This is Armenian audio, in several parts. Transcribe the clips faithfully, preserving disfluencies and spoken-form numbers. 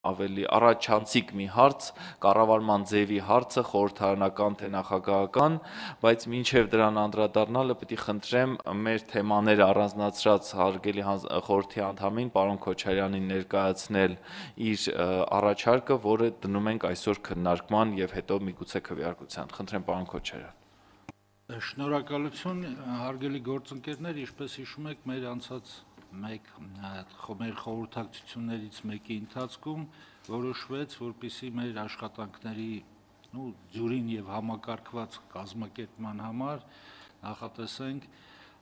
ավելի առաջանցիկ մի հարց, կառավարման ձևի հարցը, խորհրդարանական թե նախագահական, բայց մինչև դրան անդրադառնալը պետք է խնդրեմ մեր թեմաները առանձնացրած հարգելի խորհրդի անդամին պարոն Քոչարյանին ներկայացնել իր առաջարկը, որը դնում ենք այսօր քննարկման եւ հետո միգուցե քվեարկության։ Խնդրեմ պարոն Քոչարյան։ Շնորհակալություն, հարգելի գործընկերներ, ինչպես հիշում եք, մեր անցած մեկ մեր խորհրդակցություններից մեկի ընթացքում որոշվեց, որպեսզի մեր աշխատանքների ձյուրին եւ համակարգված կազմակերպման համար նախատեսենք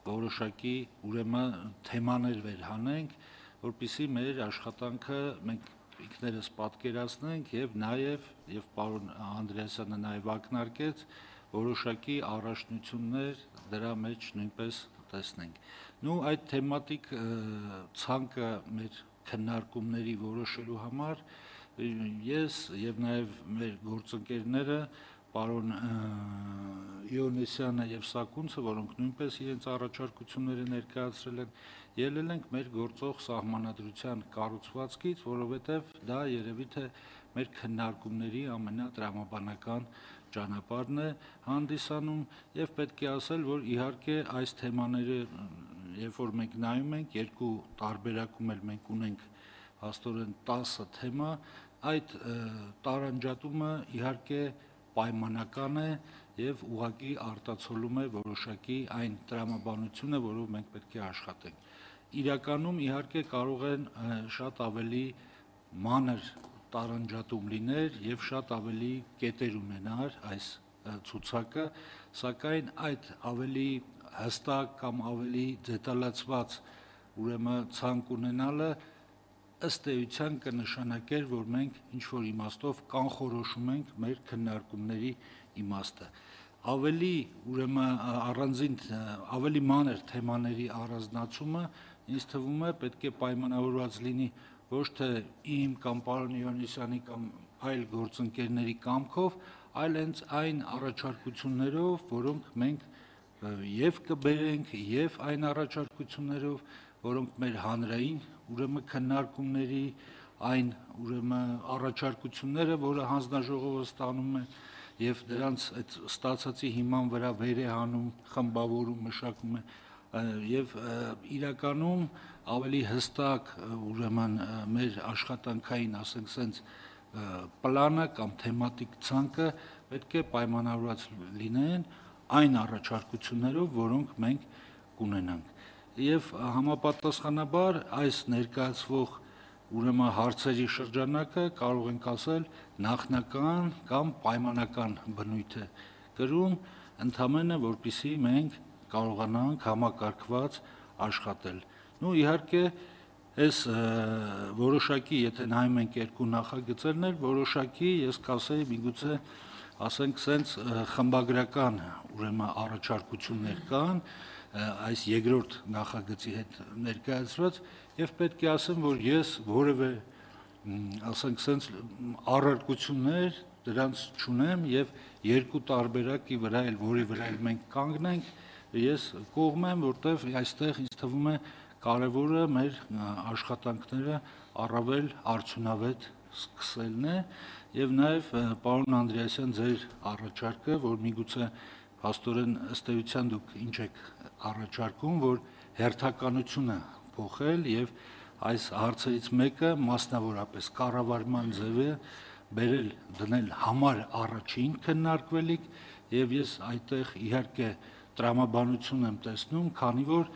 որոշակի ուրեմն թեմաներ վերհանենք, որպեսզի մեր աշխատանքը մենք ինքներս պատկերացնենք եւ նաեւ եւ պարոն Անդրեասյանը նաեւ ակնարկեց որոշակի առաջնություններ դրա մեջ նույնպես տեսնենք։ Նու այդ թեմատիկ ցանկը մեր քննարկումների որոշելու համար ես եւ նաեւ մեր գործընկերները պարոն Իոնեսյանը եւ Սակունցը, որոնք նույնպես իրենց առաջարկությունները ներկայացրել են, ելել ենք մեր գործող սահմանադրության կառուցվածքից, որովհետեւ դա երևի թե մեր քննարկումների ամենատրամաբանական ճանապարհն է հանդիսանում եւ պետք է ասել, որ իհարկե այս թեմաները, երբ որ մենք նայում ենք, երկու տարբերակում էլ մենք ունենք հաստորեն տասը թեմա, այդ տարանջատումը իհարկե պայմանական է եւ ուղղակի արտացոլում է որոշակի այն տրամաբանությունը, որով մենք պետք է աշխատենք։ Իրականում իհարկե կարող են շատ ավելի մանր տարանջատում լիներ եւ շատ ավելի կետեր ունենար այս ցուցակը, սակայն այդ ավելի հստակ կամ ավելի դետալացված ուրեմն ցանկ ունենալը ըստ էության կնշանակեր, որ մենք ինչ որ իմաստով կանխորոշում ենք մեր քննարկումների իմաստը։ Ավելի ուրեմն առանձին ավելի մանր թեմաների առանձնացումը ինձ թվում է պետք է պայմանավորված լինի ոչ թե իմ կամ պարոն Իոնիսյանի կամ այլ գործընկերների կամքով, այլ հենց այն առաջարկություններով, որոնք մենք եւ կբերենք, եւ այն առաջարկություններով, որոնք մեր հանրային ուրեմն քննարկումների այն ուրեմն առաջարկությունները, որը հանձնաժողովը ստանում է եւ դրանց այդ ստացածի հիման վրա վեր է հանում, խմբավորում, մշակում է եւ իրականում ավելի հստակ ուրեմն մեր աշխատանքային, ասենք սենց պլանը կամ թեմատիկ ցանկը պետք է պայմանավորված լինեն այն առաջարկություններով, որոնք մենք կունենանք։ Եվ համապատասխանաբար այս ներկայացվող ուրեմն հարցերի շրջանակը կարող ենք ասել նախնական կամ պայմանական բնույթ է կրում, ընդհանրապես որպեսզի մենք կարողանանք համակարգված աշխատել։ Նու իհարկե այս որոշակի, եթե նայում ենք երկու նախագծերներ, որոշակի ես կասեի միգուցե ասենք սենց խմբագրական ուրեմն առաջարկություններ կան այս երկրորդ նախագծի հետ ներկայացված եւ պետք է ասեմ, որ ես որևէ ասենք սենց առարկություններ դրանց չունեմ եւ երկու տարբերակի վրա էլ որի վրա էլ մենք կանգնենք, ես կողմ եմ, որտեվ այստեղ ինձ թվում է կարևորը մեր աշխատանքները առավել արդյունավետ սկսելն է եւ նաեւ պարոն Անդրեասյան ձեր առաջարկը, որ միգուցե հաստորեն ըստ էության դուք ինչ եք առաջարկում, որ հերթականությունը փոխել եւ այս հարցերից մեկը մասնավորապես կառավարման ձևը բերել դնել համար առաջին քննարկվելիք եւ ես այդտեղ իհարկե տրամաբանություն եմ տեսնում, քանի որ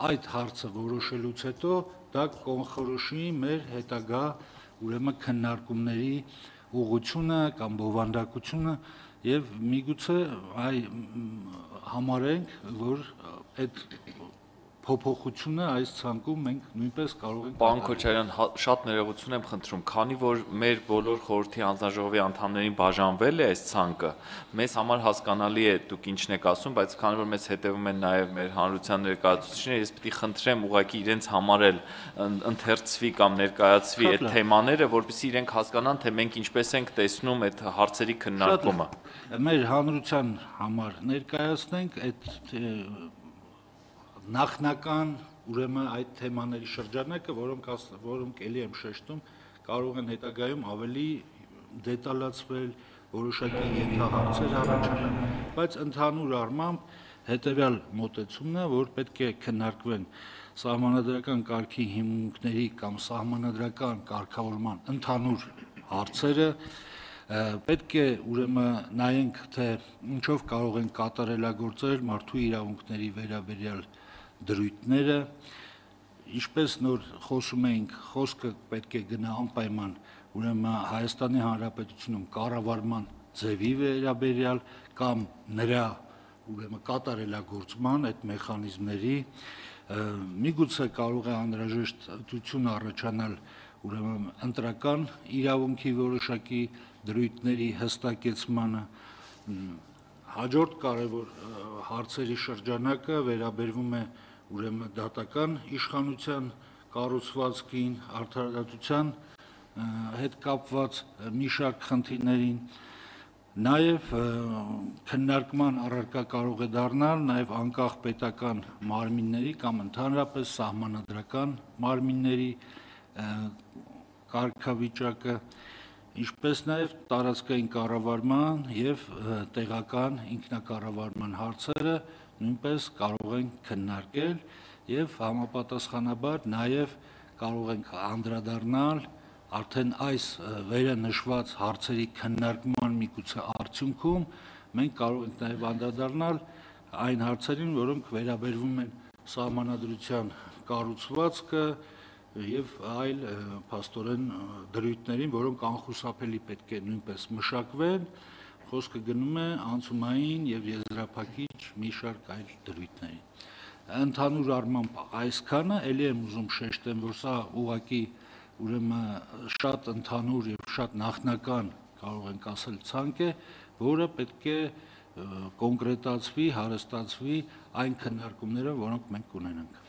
այդ հարցը որոշելուց հետո դա կոնխորոշի մեր հետագա ուրեմն քննարկումների ուղղությունը կամ բովանդակությունը եւ միգուցե այ համարենք, որ այդ փոփոխությունը այս ցանկում մենք նույնպես կարող ենք Պարոն Քոչարյան, շատ ներողություն եմ խնդրում, քանի որ մեր բոլոր խորհրդի հանձնաժողովի անդամներին բաժանվել է այս ցանկը, մեզ համար հասկանալի է դուք ինչն եք ասում, բայց քանի որ մեզ հետևում են նաև մեր հանրության ներկայացուցիչները, ես պետք է խնդրեմ ուղղակի իրենց համար էլ ընթերցվի կամ ներկայացվի այդ թեմաները, որպեսզի իրենք հասկանան, թե մենք ինչպես ենք տեսնում այդ հարցերի քննարկումը։ Մեր հանրության համար ներկայացնենք այդ նախնական ուրեմն այդ թեմաների շրջանակը, որոնք որոնք ելի եմ շեշտում, կարող են հետագայում ավելի դետալացվել, որոշակի ենթահարցեր առաջանան, բայց ընդհանուր առմամբ հետևյալ մոտեցումն է, որ պետք է քննարկվեն սահմանադրական կարգի հիմունքների կամ սահմանադրական կարգավորման ընդհանուր հարցերը, պետք է ուրեմն նայենք, թե ինչով կարող են կատարելագործել մարդու իրավունքների վերաբերյալ դրույթները, ինչպես նոր խոսում էինք, խոսքը պետք է գնա անպայման ուրեմն Հայաստանի Հանրապետությունում կառավարման ձևի վերաբերյալ կամ նրա ուրեմն կատարելագործման այդ մեխանիզմների, միգուցե կարող է անհրաժեշտ ընտրություն առաջանալ ուրեմն ընտրական իրավունքի որոշակի դրույթների հստակեցմանը, հաջորդ կարևոր հարցերի շրջանակը վերաբերվում է ուրեմն դատական իշխանության կառուցվածքին, արդարադատության հետ կապված մի շարք խնդիրներին, նաև քննարկման առարկա կարող է դառնալ նաև անկախ պետական մարմինների կամ ընդհանրապես սահմանադրական մարմինների կարգավիճակը, ինչպես նաև տարածքային կառավարման և տեղական ինքնակառավարման հարցերը նույնպես կարող ենք քննարկել և համապատասխանաբար նաև կարող ենք անդրադառնալ արդեն այս վերը նշված հարցերի քննարկման միգուցե արդյունքում մենք կարող ենք նաև անդրադառնալ այն հարցերին, որոնք վերաբերվում են սահմանադրության կառուցվածքը և այլ փաստորեն դրույթներին, որոնք անխուսափելի պետք է նույնպես մշակվեն, խոսքը գնում է անցումային և եզրափակիչ մի շարք այլ դրույթների։ Ընդհանուր առմամբ այսքանը, ելի եմ ուզում շեշտեմ, որ սա ուղղակի ուրեմն շատ ընդհանուր և շատ նախնական կարող ենք ասել ցանկ է, որը պետք է կոնկրետացվի, հարստացվի այն քննարկումներով, որոնք մենք կունենանք։